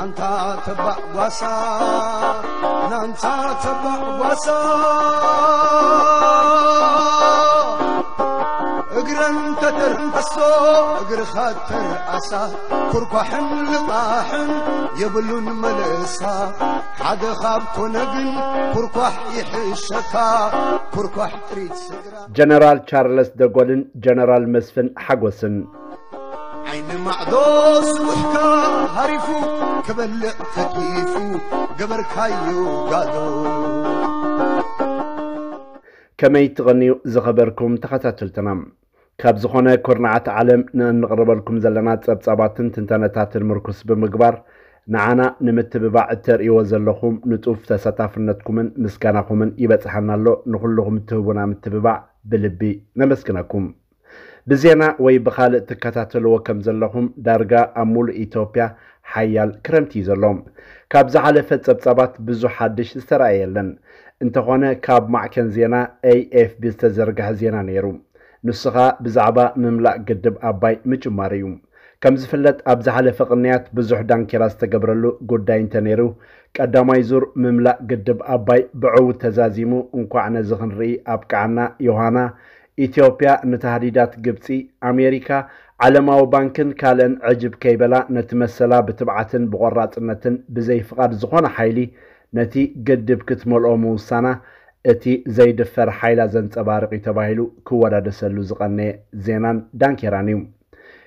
ኣንታ ተባዕ ጓሳ፣ ናንታ ተባዕ ጓሳ፣ እግረን ተተርንከሶ፣ እግርኻ ተርኣሳ፣ ኩርኳሕን ልቓሕን የብሉን መለሳ። ሓደ ካብ ኮነ ግን ኩርኳሕ ይሕሸካ፣ ኩርኳሕ ጥሪት ስድራ። ጀነራል ቻርለስ ደጎልን ጀነራል መስፍን ሓጎስን። ዓይኒ ማዕዶ ስቡሕካ ሃሪፉ፣ ክበልዕ ተኪፉ፣ ገበርካዮ ጋዶ። ከመይ ትቐንዩ ዝኸበርኩም ተኸታተልትና? ካብ ዝኾነ ኩርናዓት ዓለም ንእንቕርበልኩም ዘለና ጸብጻባትን ትንተነታትን ምርኩስ ብምግባር፣ ንዓና ንምትብባዕ እተርእይዎ ዘለኹም ንጡፍ ተሳታፍነትኩምን ምስጋናኹምን ይበጽሓና ኣሎ። ንኹልኹም እትህቡና ምትብባዕ ብልቢ ነመስግነኩም። ብዜና ወይ ብኻልእ ትከታተልዎ ከም ዘለኹም፣ ዳርጋ ኣብ ሙሉእ ኢትዮጵያ ሓያል ክረምቲ እዩ ዘሎ። ካብ ዝሓለፈ ጸብጻባት ብዙሕ ሓድሽ ዝተራእየ የለን። እንተኾነ፣ ካብ ማዕከን ዜና ኤ ኤፍ ቢ ዝተዘርግሐ ዜና ነይሩ። ንሱ ኸኣ ብዛዕባ ምምላእ ግድብ ኣባይ ምጅማሩ እዩ። ከም ዝፍለጥ፣ ኣብ ዝሓለፈ ቅንያት ብዙሕ ዳንኬራ ዝተገብረሉ ጉዳይ እንተነይሩ፣ ቀዳማይ ዙር ምምላእ ግድብ ኣባይ ብዕዉት ተዛዚሙ፣ እንኳዕ ነዚ ክንርኢ ኣብቅዓና። ዮሃና፣ ኢትዮጵያ ንታህዲዳት ግብጺ፣ ኣሜሪካ፣ ዓለማዊ ባንክን ካልእን ዕጅብ ከይበላ፣ ነቲ መሰላ ብትብዓትን ብቆራጽነትን ብዘይ ፍቓድ ዝኾነ ሓይሊ ነቲ ግድብ ክትመልኦ ምውሳና፣ እቲ ዘይድፈር ሓይላ ዘንጸባርቕ እዩ ተባሂሉ ክወዳደሰሉ ዝቐነየ ዜናን ዳንኬራን እዩ።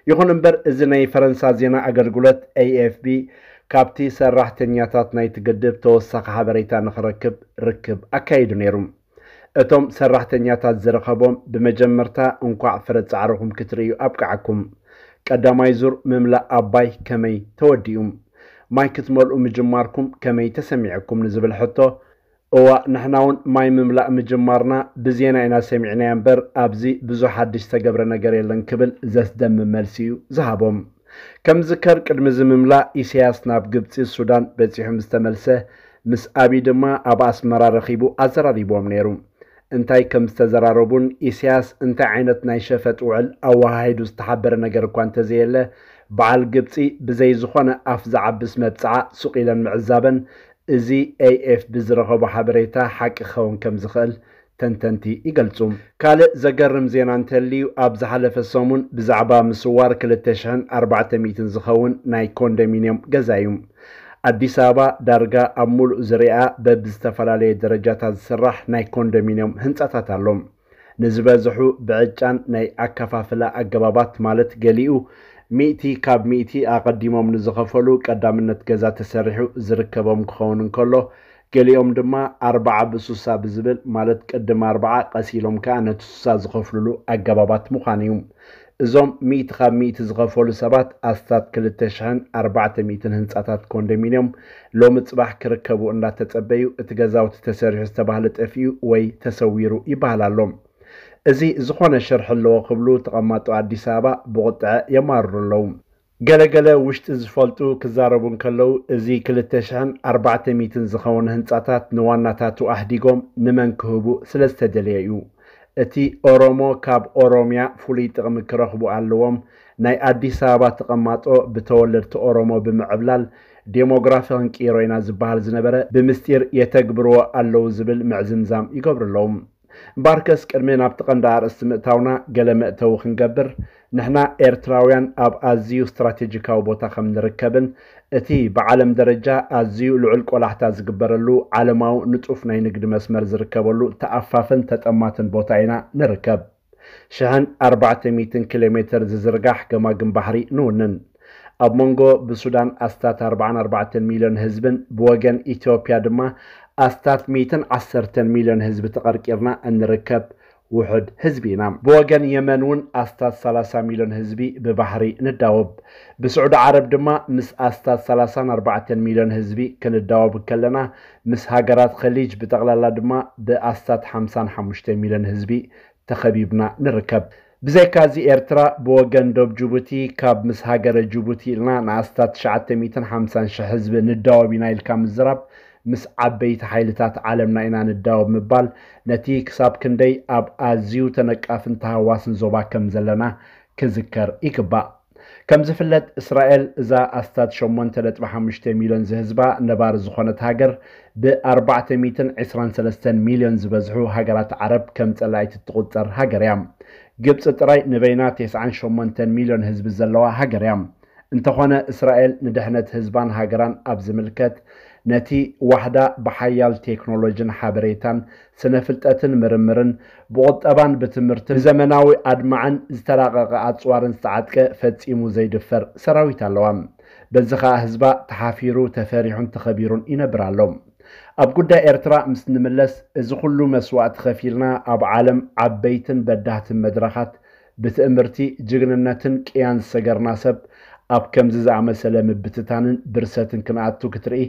ይኹን እምበር፣ እዚ ናይ ፈረንሳ ዜና ኣገልግሎት ኤ ኤፍ ቢ ካብቲ ሰራሕተኛታት ናይቲ ግድብ ተወሳኺ ሓበሬታ ንኽረክብ ርክብ ኣካይዱ ነይሩ። እቶም ሰራሕተኛታት ዝረኸቦም፣ ብመጀመርታ እንኳዕ ፍረ ጻዕርኹም ክትርእዩ ኣብቅዓኩም። ቀዳማይ ዙር ምምላእ ኣባይ ከመይ ተወዲኡ? ማይ ክትመልኡ ምጅማርኩም ከመይ ተሰሚዕኩም ንዝብል ሕቶ፣ እዋ፣ ንሕና እውን ማይ ምምላእ ምጅማርና ብዜና ኢና ሰሚዕናዮ እምበር፣ ኣብዚ ብዙሕ ሓድሽ ዝተገብረ ነገር የለን ክብል ዘስደምም መልሲ እዩ ዝሃቦም። ከም ዝከር፣ ቅድሚ እዚ ምምላእ፣ ኢሳያስ ናብ ግብጺ፣ ሱዳን በጺሑ ምስ ተመልሰ፣ ምስ ኣቢ ድማ ኣብ ኣስመራ ረኺቡ ኣዘራሪብዎም ነይሩ። እንታይ ከም ዝተዘራረቡን ኢሳያስ እንታይ ዓይነት ናይ ሸፈጥ ውዕል ኣወሃሂዱ ዝተሓበረ ነገር እኳ እንተዘየለ፣ በዓል ግብጺ ብዘይ ዝኾነ ኣፍ ዝዓብስ መብጽዓ ሱቕ ኢለን ምዕዛበን፣ እዚ ኤ ኤፍ ቢ ዝረኸቦ ሓበሬታ ሓቂ ክኸውን ከም ዝኽእል ተንተንቲ ይገልጹ። ካልእ ዘገርም ዜና እንተልዩ፣ ኣብ ዝሓለፈ ሰሙን ብዛዕባ ምስዋር ክልተ ሽሕን ኣርባዕተ ሚእትን ዝኸውን ናይ ኮንዶሚንዮም ገዛ እዩ። ኣዲስ ኣበባ ዳርጋ ኣብ ሙሉእ ዙርያኣ በብዝተፈላለየ ደረጃታት ዝስራሕ ናይ ኮንዶሚንዮም ህንጻታት ኣሎ። ንዝበዝሑ ብዕጫን ናይ ኣከፋፍላ ኣገባባት፣ ማለት ገሊኡ ሚእቲ ካብ ሚእቲ ኣቐዲሞም ንዝኸፈሉ ቀዳምነት ገዛ ተሰሪሑ ዝርከቦም ክኸውን እንከሎ፣ ገሊኦም ድማ ኣርባዓ ብሱሳ ብዝብል፣ ማለት ቅድም ኣርባዓ ቀስ ኢሎም ከኣ ነቲ ሱሳ ዝኸፍሉሉ ኣገባባት ምዃኑ እዩ። እዞም ሚእቲ ካብ ሚእቲ ዝኸፈሉ ሰባት ኣስታት ክልተ ሽሕን ኣርባዕተ ሚእትን ህንጻታት ኮንዶሚንዮም ሎሚ ጽባሕ ክርከቡ እንዳተጸበዩ፣ እቲ ገዛውቲ ተሰሪሑ ዝተባህለ ጠፊኡ ወይ ተሰዊሩ ይበሃል ኣሎ። እዚ ዝኾነ ሽርሒ ኣለዎ ክብሉ ተቐማጦ ኣዲስ ኣበባ ብቑጥዐ የማርሩ ኣለዉ። ገለገለ ውሽጢ ዝፈልጡ ክዛረቡ እንከለዉ፣ እዚ ክልተ ሽሕን ኣርባዕተ ሚእትን ዝኸውን ህንጻታት ንዋናታቱ ኣህዲጎም ንመን ክህቡ ስለ ዝተደልየ እዩ። እቲ ኦሮሞ ካብ ኦሮምያ ፍሉይ ጥቕሚ ክረኽቡ ኣለዎም፣ ናይ ኣዲስ ኣበባ ተቐማጦ ብተወለድቲ ኦሮሞ ብምዕብላል ዴሞግራፊ ክንቅይሮ ኢና ዝበሃል ዝነበረ ብምስጢር የተግብርዎ ኣለዉ ዝብል ምዕዝምዛም ይገብሩ ኣለዉ። እምበኣርከስ ቅድሚ ናብቲ ቀንዲ ኣርእስቲ ምእታውና ገለ መእተዊ ክንገብር፣ ንሕና ኤርትራውያን ኣብ ኣዝዩ ስትራቴጂካዊ ቦታ ከም ንርከብን እቲ ብዓለም ደረጃ ኣዝዩ ልዑል ቆላሕታ ዝግበረሉ ዓለማዊ ንጡፍ ናይ ንግዲ መስመር ዝርከበሉ ተኣፋፍን ተጠማትን ቦታ ኢና ንርከብ። ሽሕን ኣርባዕተ ሚእትን ኪሎ ሜተር ዝዝርጋሕ ገማግም ባሕሪ ንውንን። ኣብ መንጎ ብሱዳን ኣስታት ኣርባዓን ኣርባዕተን ሚልዮን ህዝብን ብወገን ኢትዮጵያ ድማ ኣስታት ሚእትን ዓሰርተን ሚልዮን ህዝቢ ተቐርቂርና እንርከብ ውሑድ ህዝቢ ኢና። ብወገን የመን እውን ኣስታት ሰላሳ ሚልዮን ህዝቢ ብባሕሪ ንዳወብ። ብስዑዲ ዓረብ ድማ ምስ ኣስታት ሰላሳን ኣርባዕተን ሚልዮን ህዝቢ ክንዳወብ ከለና፣ ምስ ሃገራት ኸሊጅ ብጠቕላላ ድማ ብኣስታት ሓምሳን ሓሙሽተ ሚልዮን ህዝቢ ተኸቢብና ንርከብ። ብዘይካዚ፣ ኤርትራ ብወገን ዶብ ጅቡቲ፣ ካብ ምስ ሃገረ ጅቡቲ ኢልና ንኣስታት ትሽዓተ ሚእትን ሓምሳን ሽሕ ህዝቢ ንዳወብ ኢና ኢልካ ምዝራብ፣ ምስ ዓበይቲ ሓይልታት ዓለምና ኢና ንዳወብ ምባል፣ ነቲ ክሳብ ክንደይ ኣብ ኣዝዩ ተነቃፍን ተሃዋስን ዞባ ከም ዘለና ክዝከር ይግባእ። ከም ዝፍለጥ፣ እስራኤል እዛ ኣስታት ሸሞንተ ነጥቢ ሓሙሽተ ሚልዮን ዝህዝባ ነባሪ ዝኾነት ሃገር፣ ብ ኣርባዕተ ሚእትን ዕስራን ሰለስተን ሚልዮን ዝበዝሑ ሃገራት ዓረብ ከም ጸላኢት እትቑጸር ሃገር እያ። ግብጺ ጥራይ ንበይና ተስዓን ሸሞንተን ሚልዮን ህዝቢ ዘለዋ ሃገር እያ። እንተኾነ፣ እስራኤል ንድሕነት ህዝባን ሃገራን ኣብ ዝምልከት፣ ነቲ ዋሕዳ ብሓያል ቴክኖሎጂን ሓበሬታን፣ ስነ ፍልጠትን ምርምርን፣ ብቑጠባን ብትምህርትን፣ ብዘመናዊ ኣድማዕን ዝተራቐቐ ኣጽዋርን ዝተዓጥቀ፣ ፈጺሙ ዘይድፈር ሰራዊት ኣለዋ። በዚ ኸኣ ህዝባ ተሓፊሩ፣ ተፈሪሑን ተኸቢሩን ይነብር ኣሎ። ኣብ ጉዳይ ኤርትራ ምስ ንምለስ፣ እዚ ኩሉ መስዋእቲ ከፊልና ኣብ ዓለም ዓበይትን በዳህትን መድረኻት ብትእምርቲ፣ ጅግንነትን ቅያን ዝሰገርና ሰብ፣ ኣብ ከምዚ ዝኣመሰለ ምብትታንን ብርሰትን ክንኣቱ ክትርኢ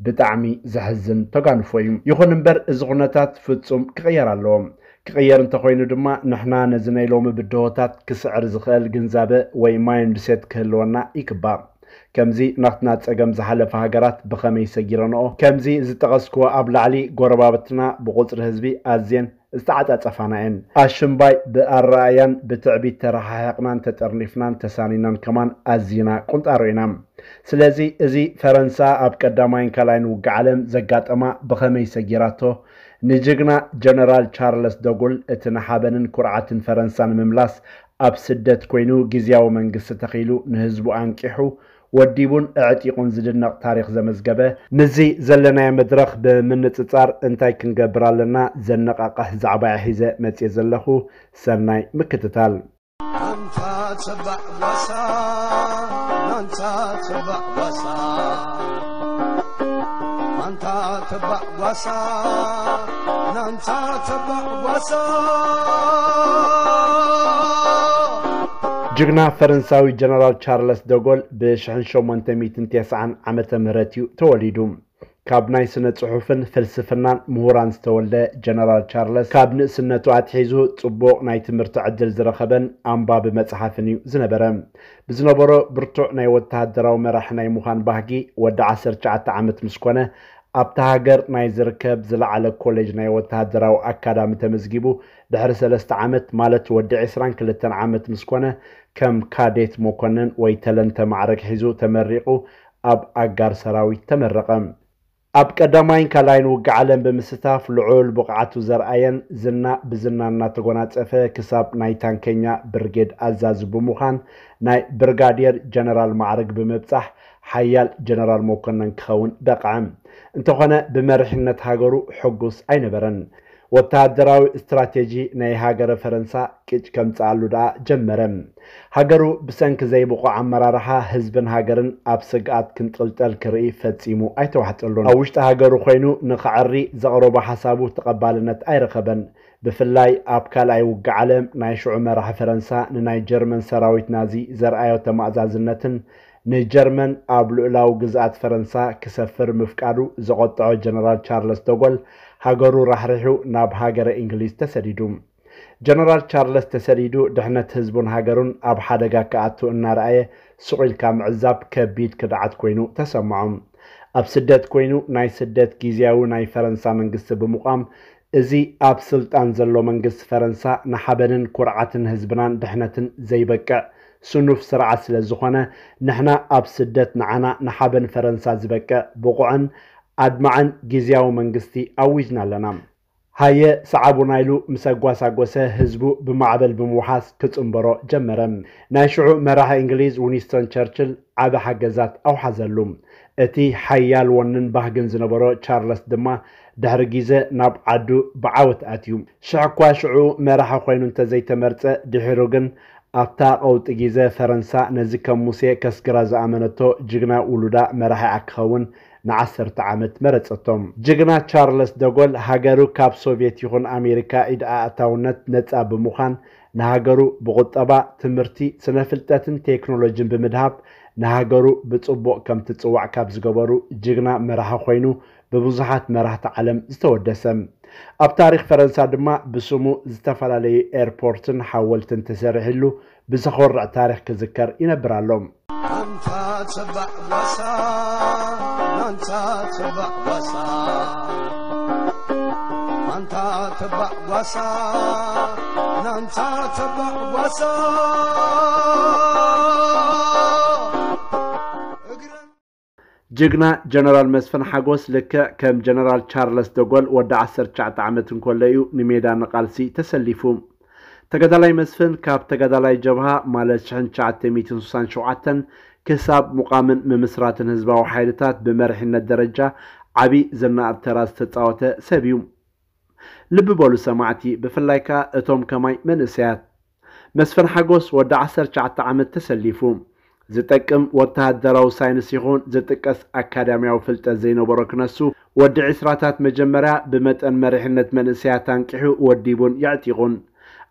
ብጣዕሚ ዘሕዝን ተጓንፎ እዩ። ይኹን እምበር፣ እዚ ኩነታት ፍጹም ክቕየር ኣለዎ። ክቕየር እንተኾይኑ ድማ፣ ንሕና ነዚ ናይ ሎሚ ብድሆታት ክስዕር ዝኽእል ግንዛበ ወይ ማይንድሴት ክህልወና ይግባእ። ከምዚ ናትና ጸገም ዝሓለፈ ሃገራት ብኸመይ ሰጊረንኦ? ከምዚ ዝጠቐስክዎ ኣብ ላዕሊ፣ ጎረባብትና ብቑጽሪ ህዝቢ ኣዝየን ዝተዓጻጸፋና እየን። ኣሽምባይ ብኣረኣእያን ብትዕቢት ተረሓሒቕናን ተጠርኒፍናን ተሳኒናን ከማን ኣዚና ቁንጣሮ ኢና። ስለዚ፣ እዚ ፈረንሳ ኣብ ቀዳማይን ካልኣይን ውግእ ዓለም ዘጋጠማ ብኸመይ ሰጊራቶ? ንጅግና ጀነራል ቻርለስ ደጎል እቲ ንሓበንን ኩርዓትን ፈረንሳ ንምምላስ ኣብ ስደት ኮይኑ ግዝያዊ መንግስቲ ተኺሉ ንህዝቡ ኣንቂሑ ወዲቡን ኣዕጢቑን ዝድነቕ ታሪኽ ዘመዝገበ፣ ምስዚ ዘለናዮ መድረኽ ብምንጽጻር እንታይ ክንገብር ኣለና ዘነቓቕሕ ዛዕባ እየ ሒዘ መጽየ ዘለኹ። ሰናይ ምክትታል። ኣንታ ተባዕ ጓሳ፣ ኣንታ ተባዕ ጓሳ፣ ኣንታ ተባዕ ጓሳ፣ ኣንታ ተባዕ ጓሳ። ጅግና ፈረንሳዊ ጀነራል ቻርለስ ደጎል ብ ሽሕን ሸሞንተ ሚእትን ተስዓን ዓመተ ምህረት እዩ ተወሊዱ። ካብ ናይ ስነ ጽሑፍን ፍልስፍናን ምሁራን ዝተወልደ ጀነራል ቻርለስ፣ ካብ ንእስነቱ ኣትሒዙ ጽቡቕ ናይ ትምህርቲ ዕድል ዝረኸበን ኣንባቢ መጽሓፍን እዩ ዝነበረ። ብዝነበሮ ብርቱዕ ናይ ወተሃደራዊ መራሒ ናይ ምዃን ባህጊ፣ ወዲ ዓሰርተ ትሽዓተ ዓመት ምስ ኮነ፣ ኣብታ ሃገር ናይ ዝርከብ ዝለዓለ ኮሌጅ ናይ ወተሃደራዊ ኣካዳሚ ተመዝጊቡ፣ ድሕሪ ሰለስተ ዓመት፣ ማለት ወዲ ዕስራን ክልተን ዓመት ምስ ኮነ፣ ከም ካዴት መኮነን ወይ ተለንተ ማዕረግ ሒዙ ተመሪቑ፣ ኣብ ኣጋር ሰራዊት ተመረቐ። ኣብ ቀዳማይን ካልኣይን ውግእ ዓለም ብምስታፍ ልዑል ብቕዓቱ ዘርኣየን ዝና ብዝና እናተጎናጸፈ ክሳብ ናይ ታንከኛ ብርጌድ ኣዛዚ ብምዃን ናይ ብርጋዴር ጀነራል ማዕረግ ብምብጻሕ ሓያል ጀነራል መኮነን ክኸውን በቕዐ። እንተኾነ ብመሪሕነት ሃገሩ ሕጉስ ኣይነበረን። ወተሃደራዊ ስትራቴጂ ናይ ሃገረ ፈረንሳ ቅጭ ከምጽኣሉ ደኣ ጀመረ። ሃገሩ ብሰንኪ ዘይብቑዕ ኣመራርሓ ህዝብን ሃገርን ኣብ ስግኣት ክንጥልጠል ክርኢ ፈጺሙ ኣይተዋሕጠሉን። ኣብ ውሽጢ ሃገሩ ኮይኑ ንኽዕሪ ዘቕረቦ ሓሳቡ ተቐባልነት ኣይረኸበን። ብፍላይ ኣብ ካልኣይ ውግእ ዓለም ናይ ሽዑ መራሒ ፈረንሳ ንናይ ጀርመን ሰራዊት ናዚ ዘርኣዮ ተማእዛዝነትን ንጀርመን ኣብ ልኡላዊ ግዝኣት ፈረንሳ ክሰፍር ምፍቃዱ ዘቖጠዖ ጀነራል ቻርለስ ደጎል ሃገሩ ራሕሪሑ ናብ ሃገረ እንግሊዝ ተሰዲዱ። ጀነራል ቻርለስ ተሰዲዱ ድሕነት ህዝቡን ሃገሩን ኣብ ሓደጋ ክኣቱ እናረኣየ ሱቕ ኢልካ ምዕዛብ ከቢድ ክድዓት ኮይኑ ተሰምዖ። ኣብ ስደት ኮይኑ ናይ ስደት ግዝያዊ ናይ ፈረንሳ መንግስቲ ብምቋም፣ እዚ ኣብ ስልጣን ዘሎ መንግስቲ ፈረንሳ ንሓበንን ኩርዓትን ህዝብናን ድሕነትን ዘይበቅዕ ስኑፍ ስርዓት ስለ ዝኾነ፣ ንሕና ኣብ ስደት ንዓና ንሓበን ፈረንሳ ዝበቅዕ ብቑዕን ኣድማዕን ግዝያዊ መንግስቲ ኣዊጅና ኣለና። ሃየ ሰዓቡና ኢሉ ምስ ኣጓሳጎሰ፣ ህዝቡ ብማዕበል ብምውሓስ ክጽንበሮ ጀመረ። ናይ ሽዑ መራሒ እንግሊዝ ዊንስተን ቸርችል ዓቢ ሓገዛት ኣውሓዘሉ። እቲ ሓያል ወንን ባህግን ዝነበሮ ቻርለስ ድማ ድሕሪ ግዜ ናብ ዓዱ ብዓወት ኣትዩ። ሽሕ እኳ ሽዑ መራሒ ኮይኑ እንተዘይተመርጸ፣ ድሒሩ ግን ኣብታ ቀውጢ ግዜ ፈረንሳ ነዚ ከም ሙሴ ከስግራ ዝኣመነቶ ጅግና ውሉዳ መራሒኣ ክኸውን ንዓሰርተ ዓመት መረጸቶ። ጅግና ቻርለስ ደጎል ሃገሩ ካብ ሶቭየት ይኹን ኣሜሪካ ኢድ ኣእታውነት ነጻ ብምዃን ንሃገሩ ብቑጠባ፣ ትምህርቲ፣ ስነ ፍልጠትን ቴክኖሎጂን ብምድሃብ ንሃገሩ ብጽቡቕ ከም ትጽዋዕ ካብ ዝገበሩ ጅግና መራሒ ኮይኑ ብብዙሓት መራሕቲ ዓለም ዝተወደሰ። ኣብ ታሪኽ ፈረንሳ ድማ ብስሙ ዝተፈላለዩ ኤርፖርትን ሓወልትን ተሰሪሕሉ ብዘኾርዕ ታሪኽ ክዝከር ይነብር ኣሎ። ኣንታ ተባዕ ጓሳ፣ ኣንታ ተባዕ ጓሳ፣ ኣንታ ተባዕ ጓሳ፣ ኣንታ ተባዕ ጓሳ። ጅግና ጀነራል መስፍን ሓጎስ ልክዕ ከም ጀነራል ቻርለስ ደጎል ወዲ ዓሰርተ ትሽዓተ ዓመት እንከሎ እዩ ንሜዳ ንቓልሲ ተሰሊፉ። ተጋዳላይ መስፍን ካብ ተጋዳላይ ጀብሃ ማለት ሽሕን ትሽዓተ ሚእትን ስሳን ሸውዓተን ክሳብ ምቋምን ምምስራትን ህዝባዊ ሓይልታት ብመሪሕነት ደረጃ ዓቢ ዝነኣድ ተራ ዝተጻወተ ሰብ እዩ። ልቢ በሉ ሰማዕቲ፣ ብፍላይ ከኣ እቶም ከማይ መንእሰያት። መስፍን ሓጎስ ወዲ ዓሰርተ ትሽዓተ ዓመት ተሰሊፉ። ዝጠቅም ወተሃደራዊ ሳይንስ ይኹን ዝጥቀስ ኣካዳሚያዊ ፍልጠት ዘይነበሮ ክነሱ፣ ወዲ ዕስራታት መጀመርያ ብመጠን መሪሕነት መንእሰያት ኣንቂሑ ወዲቡን የዕጢቑን።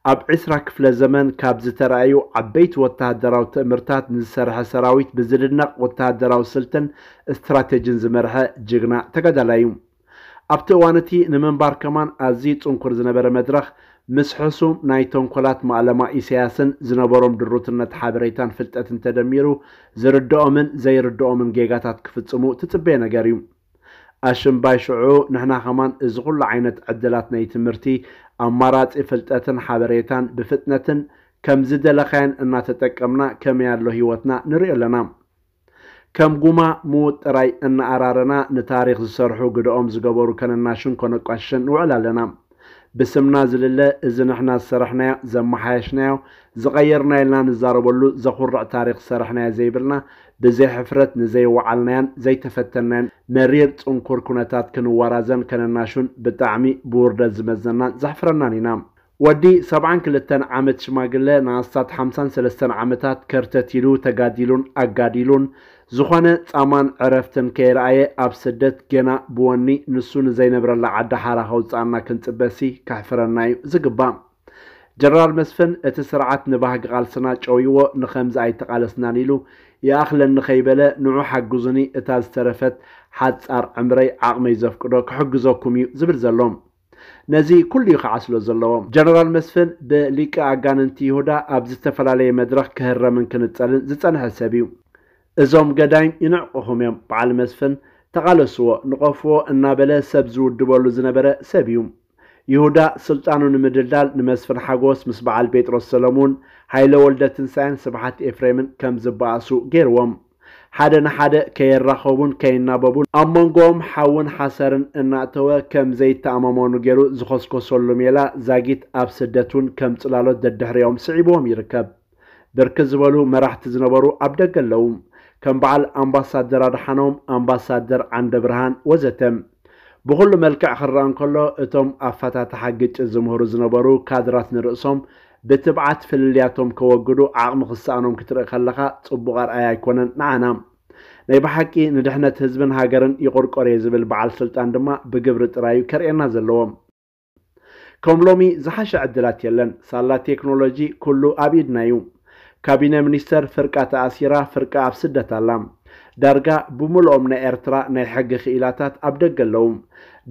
ኣብ ዕስራ ክፍለ ዘመን ካብ ዝተራእዩ ዓበይቲ ወተሃደራዊ ትእምርታት ንዝሰርሐ ሰራዊት ብዝድነቕ ወተሃደራዊ ስልትን ስትራቴጂን ዝመርሐ ጅግና ተጋዳላይ እዩ። ኣብቲ እዋን እቲ ንምንባር ከማን ኣዝዩ ጽንኩር ዝነበረ መድረኽ፣ ምስ ሕሱም ናይ ተንኮላት ማእለማ ኢሳያስን ዝነበሮም ድሩትነት ሓበሬታን ፍልጠትን ተደሚሩ፣ ዝርድኦምን ዘይርድኦምን ጌጋታት ክፍጽሙ ትጽበዮ ነገር እዩ። ኣሽምባይ ሽዑ ንሕና ከማን እዚ ኩሉ ዓይነት ዕድላት ናይ ትምህርቲ፣ ኣማራጺ ፍልጠትን ሓበሬታን ብፍጥነትን ከም ዝደለኻዮን እናተጠቀምና ከመይ ኣሎ ህይወትና ንሪኦ ኣለና። ከም ጉማ ምዉት ጥራይ እናኣራረና ንታሪኽ ዝሰርሑ ግደኦም ዝገበሩ ከነናሹን ከነቋሽሽን ንውዕል ኣለና። ብስምና ዝልለ እዚ ንሕና ዝሰራሕናዮ፣ ዘመሓየሽናዮ፣ ዝቐየርናዮ ኢልና ንዛረበሉ ዘኹርዕ ታሪኽ ዝሰራሕናዮ ዘይብልና፣ ብዘይ ሕፍረት ንዘይወዓልናዮን ዘይተፈተንናዮን መሪር ጽንኩር ኩነታት ክንዋራዘን ከነናሹን ብጣዕሚ ብውርደት ዝመዘናን ዘሕፍረናን ኢና። ወዲ ሰብዓን ክልተን ዓመት ሽማግለ ንኣስታት ሓምሳን ሰለስተን ዓመታት ከርተት ኢሉ ተጋዲሉን ኣጋዲሉን፣ ዝኾነ ጻማን ዕረፍትን ከይረኣየ ኣብ ስደት ጌና ብወኒ ንሱ ንዘይነብረላ ዓዲ ሓራ ከውጽኣና ክንጽበሲ ከሕፍረና እዩ ዝግባእ። ጀነራል መስፍን እቲ ስርዓት ንባህጊ ቃልስና ጨውይዎ ንኸምዚ ኣይተቓለስናን ኢሉ ይኣኽለኒ ከይበለ ንዑ ሓግዙኒ እታ ዝተረፈት ሓጻር ዕምረይ ዓቕመይ ዘፍቅዶ ክሕግዘኩም እዩ ዝብል ዘሎ። ነዚ ኩሉ እዩ ክዓስሎ ዘለዎ። ጀነራል መስፍን ብሊቀ ኣጋንንቲ ይሁዳ ኣብ ዝተፈላለየ መድረኽ ክህረምን ክንጸልን ዝጸንሐ ሰብ እዩ። እዞም ገዳይም ይንዕቁኹም እዮም። በዓል መስፍን ተቓለስዎ፣ ንቐፍዎ እናበለ ሰብ ዝውድበሉ ዝነበረ ሰብ እዩ። ይሁዳ ስልጣኑ ንምድልዳል ንመስፍን ሓጎስ ምስ በዓል ጴጥሮስ ሰለሙን፣ ሃይለ ወልደ ትንሳኤን ስብሓት ኤፍሬምን ከም ዝበኣሱ ገይርዎም። ሓደ ንሓደ ከየራኸቡን ከይናበቡን ኣብ መንጎኦም ሓውን ሓሰርን እናእተወ ከም ዘይተኣማመኑ ገይሩ ዝኾስኮሰሉ ሜላ ዛጊት ኣብ ስደት እውን ከም ጽላሎት ደድሕሪኦም ስዒብዎም ይርከብ። ብርክት ዝበሉ መራሕቲ ዝነበሩ ኣብ ደገ ኣለዉ። ከም በዓል ኣምባሳደር ኣድሓኖም፣ ኣምባሳደር ዓንደ ብርሃን ወዘተ። ብኹሉ መልክዕ ክረኣ እንከሎ እቶም ኣፈታትሓ ግጭት ዝምህሩ ዝነበሩ ካድራት ንርእሶም ብትብዓት ፍልልያቶም ከወግዱ ዓቕሚ ክሰኣኖም ክትርኢ ከለኻ ጽቡቕ ኣርኣያ ኣይኮነን ንዓና። ናይ ብሓቂ ንድሕነት ህዝብን ሃገርን ይቑርቆር እየ ዝብል በዓል ስልጣን ድማ ብግብሪ ጥራይ እዩ ከርእየና ዘለዎ። ከም ሎሚ ዝሓሸ ዕድላት የለን። ሳላ ቴክኖሎጂ ኩሉ ኣብ ኢድና እዩ። ካቢነ ሚኒስተር ፍርቃ ተኣሲራ፣ ፍርቃ ኣብ ስደት ኣላ። ዳርጋ ብምልኦም ናይ ኤርትራ ናይ ሕጊ ክኢላታት ኣብ ደገ ኣለዉ።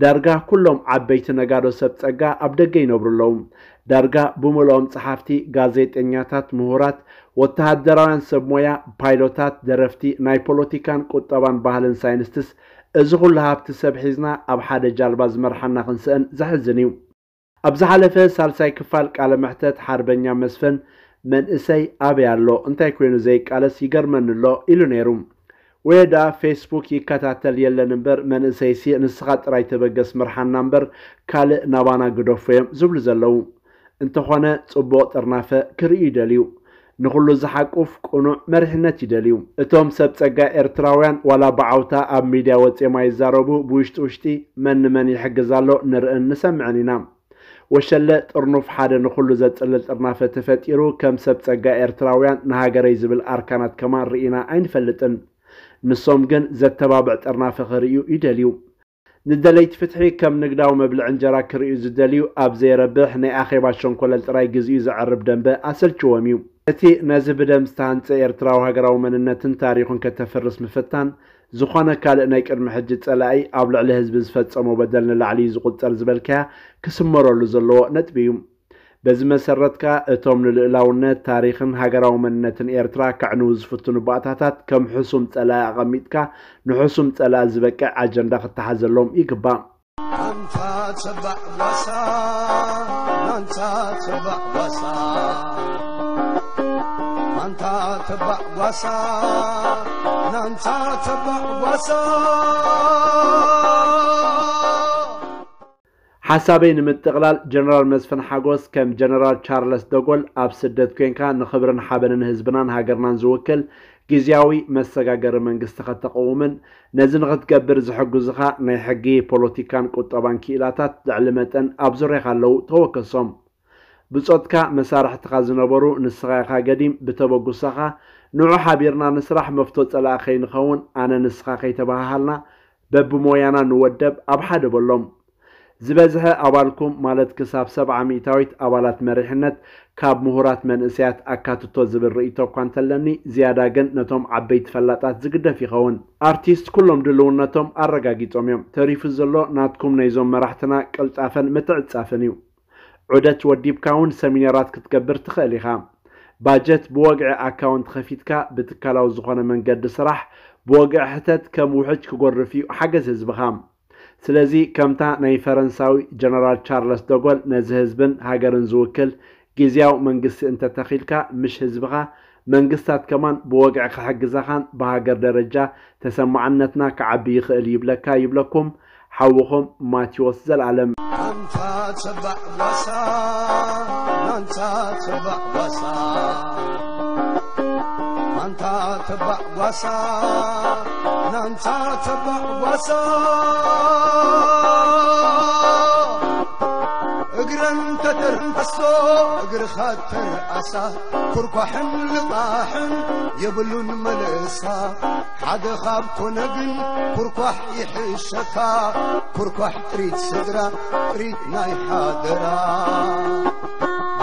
ዳርጋ ኩሎም ዓበይቲ ነጋዶ ሰብ ጸጋ ኣብ ደገ ይነብሩ ኣለዉ። ዳርጋ ብምልኦም ጸሓፍቲ፣ ጋዜጠኛታት፣ ምሁራት፣ ወተሃደራውያን ሰብ ሞያ፣ ፓይሎታት፣ ደረፍቲ፣ ናይ ፖለቲካን ቁጠባን ባህልን ሳይንስትስ፣ እዚ ኩሉ ሃብቲ ሰብ ሒዝና ኣብ ሓደ ጃልባ ዝመርሓና ክንስእን ዘሕዝን እዩ። ኣብ ዝሓለፈ ሳልሳይ ክፋል ቃለ መሕተት ሓርበኛ መስፍን፣ መንእሰይ ኣበይ ኣሎ፣ እንታይ ኮይኑ ዘይቃለስ ይገርመኒ ኣሎ ኢሉ ነይሩ። ወይ ደኣ ፌስቡክ ይከታተል የለን እምበር፣ መንእሰይሲ ንስኻ ጥራይ ተበገስ ምርሓና እምበር ካልእ ናባና ግደፎ እዮም ዝብሉ ዘለዉ። እንተኾነ ጽቡቕ ጥርናፈ ክርእዩ ይደልዩ። ንኹሉ ዝሓቁፍ ቅኑዕ መሪሕነት ይደልዩ። እቶም ሰብ ጸጋ ኤርትራውያን ዋላ ብዓውታ ኣብ ሚድያ ወጺኦም ኣይዛረቡ፣ ብውሽጢ ውሽጢ መን ንመን ይሕግዝ ኣሎ ንርእን ንሰምዕን ኢና። ወሸለ ጥርኑፍ ሓደ ንኹሉ ዘጽልል ጥርናፈ ተፈጢሩ፣ ከም ሰብ ጸጋ ኤርትራውያን ንሃገረይ ዝብል ኣርካናት ከማን ርኢና ኣይንፈልጥን። ንሶም ግን ዘተባብዕ ጥርናፈ ክርእዩ ይደልዩ። ንደለይቲ ፍትሒ ከም ንግዳዊ መብልዒ እንጀራ ክርእዩ ዝደልዩ፣ ኣብ ዘይረብሕ ናይ ኣኼባ ሸንኮለል ጥራይ ግዜኡ ዘዕርብ ደንበ ኣሰልችዎም እዩ። እቲ ነዚ ብደም ዝተሃንጸ ኤርትራዊ ሃገራዊ መንነትን ታሪኹን ከተፍርስ ምፍታን፣ ዝኾነ ካልእ ናይ ቅድሚ ሕጂ ጸላኢ ኣብ ልዕሊ ህዝቢ ዝፈጸሞ በደል ንላዕሊ እዩ ዝቑጸር ዝበልካያ ክስመረሉ ዘለዎ ነጥቢ እዩ። በዚ መሰረት ከኣ እቶም ንልኡላውነት፣ ታሪኽን ሃገራዊ መንነትን ኤርትራ ከዕንዉ ዝፍትኑ ባእታታት ከም ሕሱም ጸላኢ ኣቐሚጥካ ንሕሱም ጸላኢ ዝበቅዕ ኣጀንዳ ክተሓዘሎም ይግባእ። ኣንታ ተባዕ ጓሳ፣ ኣንታ ተባዕ ጓሳ፣ ኣንታ ተባዕ ጓሳ፣ ናንታ ተባዕ ጓሳ። ሓሳበይ ንምጥቕላል፣ ጀነራል መስፍን ሓጎስ ከም ጀነራል ቻርለስ ደጎል ኣብ ስደት ኮንካ ንኽብርን ሓበንን ህዝብናን ሃገርናን ዝውክል ግዝያዊ መሰጋገሪ መንግስቲ ከተቕውምን ነዚ ንኽትገብር ዝሕግዙኻ ናይ ሕጊ፣ ፖለቲካን ቁጠባን ክኢላታት ልዕሊ መጠን ኣብ ዙርያኻ ኣለዉ፣ ተወከሶም። ብጾትካ መሳርሕትኻ ዝነበሩ ንስኻ ኢኻ ገዲም፣ ብተበጉሳኻ ንዑ ሓቢርና ንስራሕ፣ መፍቶ ጸላኢ ከይንኸውን፣ ኣነ ንስኻ ከይተበሃሃልና በብሞያና ንወደብ ኣብ ሓደ በሎም። ዝበዝሐ ኣባልኩም ማለት ክሳብ ሰብዓ ሚእታዊት ኣባላት መሪሕነት ካብ ምሁራት መንእሰያት ኣካትቶ ዝብል ርእይቶ እኳ እንተለኒ ዝያዳ ግን ነቶም ዓበይቲ ፈላጣት ዝግደፍ ይኸውን። ኣርቲስት ኩሎም ድልውነቶም ኣረጋጊጾም እዮም። ተሪፉ ዘሎ ናትኩም ናይዞም መራሕትና ቅልጣፈን ምትዕጻፍን እዩ። ዑደት ወዲብካ እውን ሰሚናራት ክትገብር ትኽእል ኢኻ። ባጀት ብወግዒ ኣካውንት ኸፊትካ ብትካላዊ ዝኾነ መንገዲ ስራሕ ብወግዒ ሕተት ከም ውሕጅ ክጎርፍ እዩ ሓገዝ ህዝብኻ። ስለዚ ከምታ ናይ ፈረንሳዊ ጀነራል ቻርለስ ደጎል ነዚ ህዝብን ሃገርን ዝውክል ግዝያዊ መንግስቲ እንተተኺልካ ምሽ ህዝብኻ መንግስታት ከማን ብወግዒ ክሕግዛኻን ብሃገር ደረጃ ተሰማዕነትና ክዓቢ ይኽእል ይብለካ ይብለኩም ሓውኹም ማቴዎስ ዘልኣለም። ኣንታ ተባዕ ጓሳ ናንታ ተባዕ ጓሳ ኣንታ ተባዕ ጓሳ ናንታ ተባዕ ጓሳ እግረን ተተርንፈሶ እግርኻ ተርኣሳ ኩርኳሕን ልቓሕን የብሉን መለሳ ሓደ ካብ ኮነ ግን ኩርኳሕ ይሕሸካ ኩርኳሕ ጥሪት ስድራ ጥሪት ናይ ሓደራ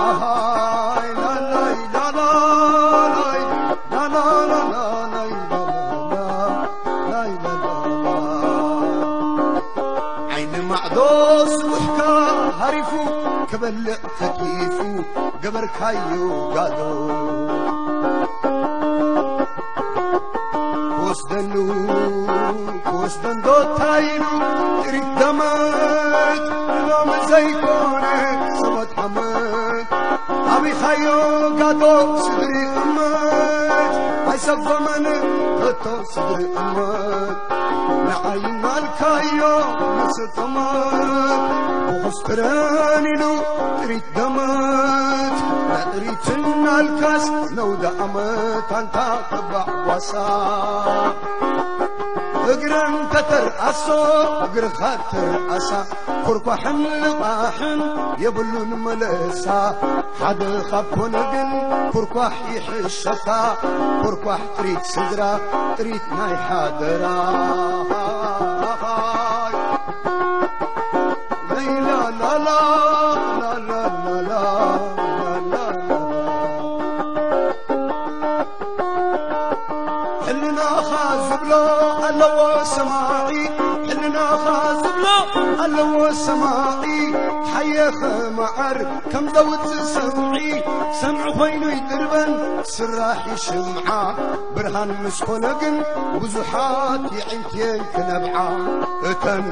ኣሃይ ላላይ ላላላይ ላላላላላይ ላላላ ናይ ላላላ ዓይኒ ማዕዶ ስቡሕካ ሃሪፉ ክበልዕ ተኪፉ ገበርካዮ ጋዶ ክወስደኑ ክወስደን ዶ ታይሉ ጥሪት ደመት ሎሚ ዘይኮነ ሰበት ዓመት ኣቢኻዮ ጋዶ ስድሪ እመት ኣይሰጎመን ከቶ ስድሪ እመት ንዓይ እናልካዮ ንስጥመት ብኹስትረን ኢሉ ጥሪት ደመት ንጥሪትን ኣልካስ ነውደ ኣመት ኣንታ ተባዕ ጓሳ እግረን ተተርኣሶ እግርኻ ተርኣሳ ኩርኳሕን ልቓሕን የብሉን መለሳ ሓደ ካብ ኮነ ግን ኩርኳሕ ይሕሸካ ኩርኳሕ ጥሪት ስድራ ጥሪት ናይ ሓደራ ሕልናኻ ዝብሎ ኣለዎ ሰማዒ ሕልናኻ ዝብሎ ኣለዎ ሰማዒ ሓየኸ መዓር ከም ዘውፅእ ሰምዒ ሰምዒ ኮይኑ ይድርበን ስራሕ ይሽምዓ ብርሃን ምስ ኮነ ግን ብዙሓት የዒንትየን ክነብዓ እተን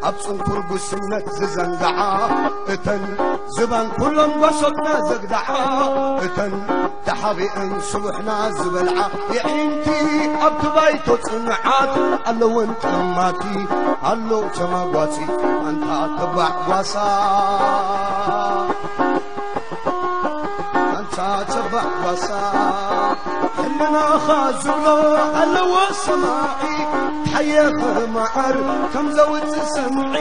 ኣብ ጽንኩር ጉስነት ዝዘንግዓ እተን ዝባን ኩሎም ጓሶትና ዘግድዓ እተን ተሓቢአን ስቡሕና ዝበልዓ የዒንቲ ኣብቲ ባይቶ ጽንዓት ኣለወን ጠማቲ ኣሎ ተማጓቲ ኣንታ ተባዕ ጓሳ ኣንታ ተባዕ ጓሳ ሕልናኻ ዝብሎ ኣለዎ ሰማዒ ሓየኸ መዓር ከም ዘውፅእ ሰምዒ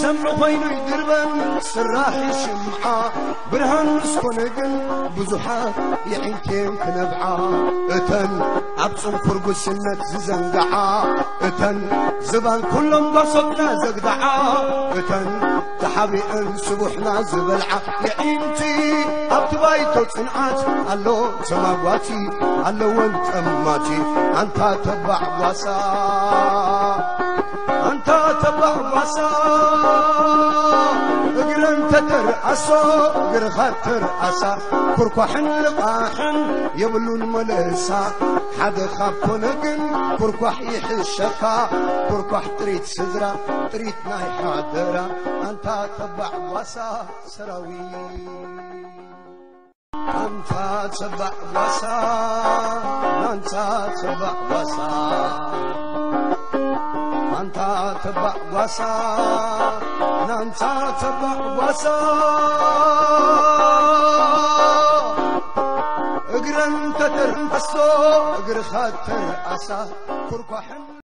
ሰምዒ ኮይኑ ይድርበን ስራሕ ይሽምዓ ብርሃን ምስ ኮነ ግን ብዙሓት የዒንቴን ክነብዓ እተን ኣብ ፅንኩር ጉስነት ዝዘንግዓ እተን ዝባን ኩሎም ጓሶትና ዘግድዓ እተን ተሓቢአን ስቡሕና ዝበልዓ የዒንቲ ኣብቲ ባይቶ ፅንዓት ኣሎ ተማጓቲ ኣለወን ጠማቲ ኣንታ ተባዕ ጓሳ ኣንታ ተባዕ ጓሳ እግረን ተተርኣሶ እግርኻ ተርኣሳ ኩርኳሕን ልቓሕን የብሉን መለሳ ሓደ ካብ ኮነ ግን ኩርኳሕ ይሕሸካ ኩርኳሕ ጥሪት ስድራ ጥሪት ናይ ሓደራ ኣንታ ተባዕ ጓሳ ሰራዊት ኣንታ ተባዕ ጓሳ፣ ኣንታ ተባዕ ጓሳ፣ ኣንታ ተባዕ ጓሳ፣ ኣንታ ተባዕ ጓሳ። እግረን ተተርንፈሶ፣ እግርኻ ተርኣሳ፣ ኩርኳሕን